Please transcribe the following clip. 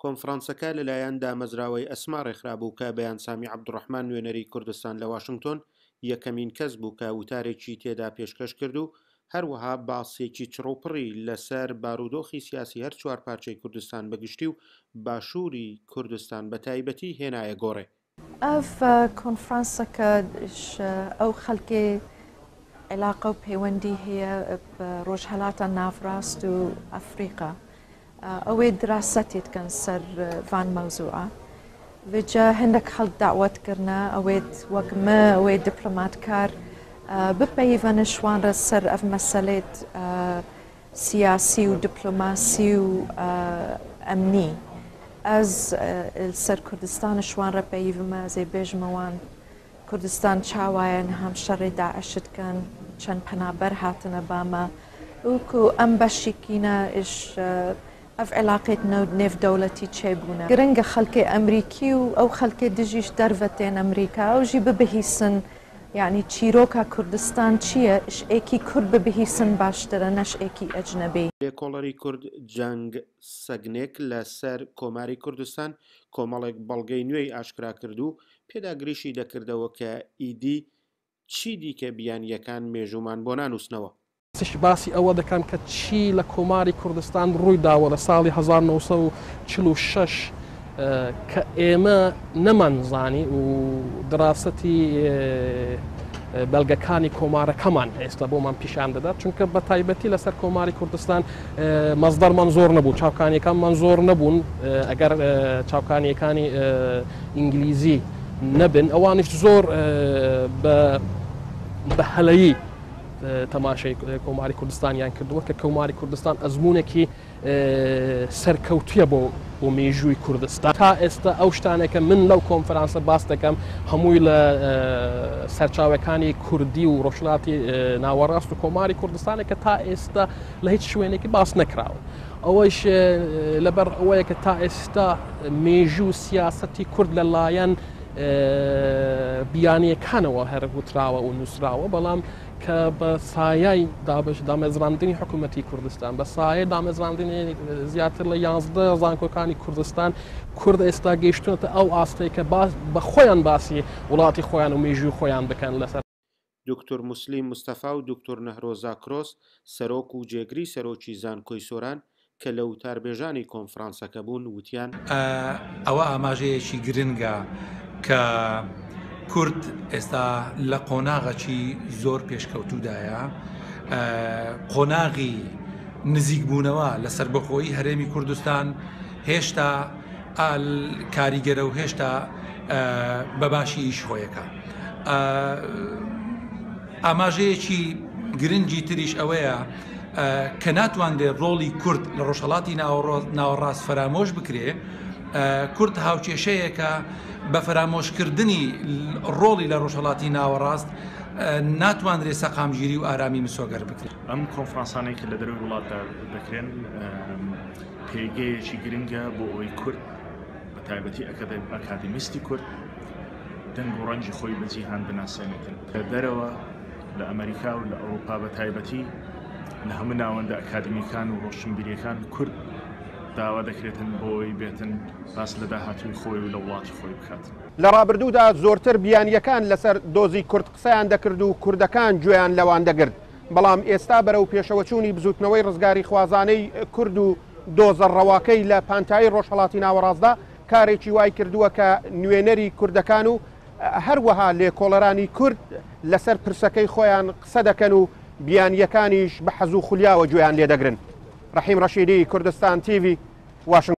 کۆنفرانسەکە لەلایەن دامەزراوەی ئەسما ڕێکخرابوو کە بەیان سامی عەبدوڕەحمان نوێنەری کوردستان لە واشنگتۆن یەکەمین کەس بوو کە وتارێکی تێدا پێشکەش کرد و هەروەها باسێکی چڕوپڕی لەسەر بارودۆخی سیاسی هەر چوارپارچەی کوردستان بە گشتی و باشووری کوردستان بە تایبەتی هێنایە گۆڕێ. ئەڤ کۆنفرانسەکە ئەو خەلکێ عیلاقە و پەیوەندی هەیە بە ڕۆژهەلاتا ناڤراست و ئەفریقا ئەوێ دراسەتێ دکەن سەر ڤان مەوزوعە ڤجا هەندێک خەڵک داوەت کردنە ئەوێت وەک مە ئەوێ دیپلۆماتکار بپەیڤەنە شوان ڕە سەر ئەڤ مەسەلێت سیاسی و دیپلۆماسی و ئەمنی ئەز سەر کوردستان شوان ڕە پەیڤمە ئەزێ بێژمە وان کوردستان چاوایە نهام شەڕێ داعش دکەن چەند پەنابەر هاتنە بامە ئوکو ئەم بەشیکینە ئش ئەف علاقێت نێودەولەتی چێ بوونە گرنگە خەلکێ ئەمریکی و ئەو خەلکێ دژیش دەرڤە تێن ئەمریکا ئەو ژی ببهیسن یەعنی چیرۆکا کوردستان چییە ئش ئێکی کورد ببهیسن باشترە نەش ئێکی ئەجنەبی. لێکۆڵەری کورد جەنگ سەگنێک لە سەر کۆماری کوردستان کۆمەڵێک بەڵگەی نوێی ئاشکرا کرد و پێداگریشی دەکردەوە کە ئیدی چی دیکە بیانییەکان مێژوومان بۆ نانووسنەوە. باسی ئەوە دەکەن کە چی لە کۆماری کوردستان ڕووی داوە لە ساڵی 1946 کە ئێمە نەمانزانی و دراسەتی بەڵگەکانی کۆمارەکەمان ئێستا بۆمان پیشان دەدات چونکە بە تایبەتی لەسەر کۆماری کوردستان مەزدەرمان زۆر نەبوو چاوکانیەکانمان زۆر نەبوون ئەگەر چاوکانیەکانی ئینگلیزی نەبن ئەوانیش زۆر بە هەلەیی تەماشای کۆماری کوردستانیان کردووە کە کۆماری کوردستان ئەزمونێکی سەرکەوتویە بۆ بۆ مێژووی کوردستان تا ئێستا ئەو شتانێکە من لەو کۆنفرانسە باس دەکەم هەمووی لە سەرچاوەکانی کوردی و ڕۆژهەڵاتی ناوەڕاست و کۆماری کوردستانێک کە تا ئێستا لە هیچ شوێنێکی باس نەکراوە ئەوەیش لەبەر ئەوەیە کە تا ئێستا مێژوو سیاسەتی کورد لەلایەن بیانیەکانەوە هەر وتراوە و نووسراوە بەڵام کە بە سایای دابش دامەزراندنی حکوومەتی کوردستان بە سایە دامەزراندنی زیاتر لە یانزدە زانکۆکانی کوردستان کورد ئێستا گەیشتونەتە ئەو ئاستەی کە بە خۆیان باسی وڵاتی خۆیان و مێژووی خۆیان بکەن لەسەر دوکتور موسلیم مستەفا و دوکتور نەهرۆ زاکرۆس سەرۆک و جێگری سەرۆکی زانکۆی سۆران کە لە وتاربێژانی کۆنفرانسەکە بوون وتیان، ئەوە ئاماژەیەکی گرنگە کە کورد ئێستا لە قۆناغەکی زۆر پێشکەوتوودایە، قۆناغی نزیکبوونەوە لە سەربەخۆیی هەرێمی کوردستان هێشتا کاریگەرە و هێشتا بە باشی ئیش خۆیەکە. ئاماژەیەکی گرنگی تریش ئەوەیە کە ناتوانرێت ڕۆڵی کورد لە ڕۆژهەڵاتی ناوەڕاست فەرامۆش بکرێ، کورد هاوکێشەیەکە بە فەرامۆشکردنی ڕۆڵی لە ڕۆژهەڵاتی ناوەڕاست ناتوانرێت سەقامگیری و ئارامی مسۆگەر بکرێت. ئەم کۆنفرانسانەی کە لە دەرەوەی وڵاتدا دەکرێن پێگەیەکی گرنگە بۆ ئەوەی کورد بە تایبەتی ئەکادیمیستی کورد دەنگ و ڕەنگی خۆی بە جیهان بناسێنێتن. لە دەرەوە لە ئەمەریکا و لە ئەوروپا بە تایبەتی لە هەموو ناوەندە ئەکادیمیکان و ڕۆشنبیریەکان کورد داوا دەکرێتن بۆ ئەوەی بێتن باس لە داهاتووی خۆی و لە وڵاتی خۆی بکات. لە ڕابردوودا زۆرتر بیانییەکان لەسەر دۆزی کورد قسەیان دەکرد و کوردەکان گوێیان لەوان دەگرت، بەڵام ئێستا بەرەو پێشەوەچوونی بزووتنەوەی ڕزگاریخوازانەی کورد و دۆزە ڕەواکەی لە پانتایی ڕۆژهەڵاتی ناوەڕاستدا کارێکی وای کردووە کە نوێنەری کوردەکان و هەروەها لێکۆڵەرانی کورد لەسەر پرسەکەی خۆیان قسە دەکەن و بیانییەکانیش بە حەز و خولیاوە گوێیان لێدەگرن. ڕەحیم ڕەشیدی، کوردستان تیڤی، واشنگتۆن.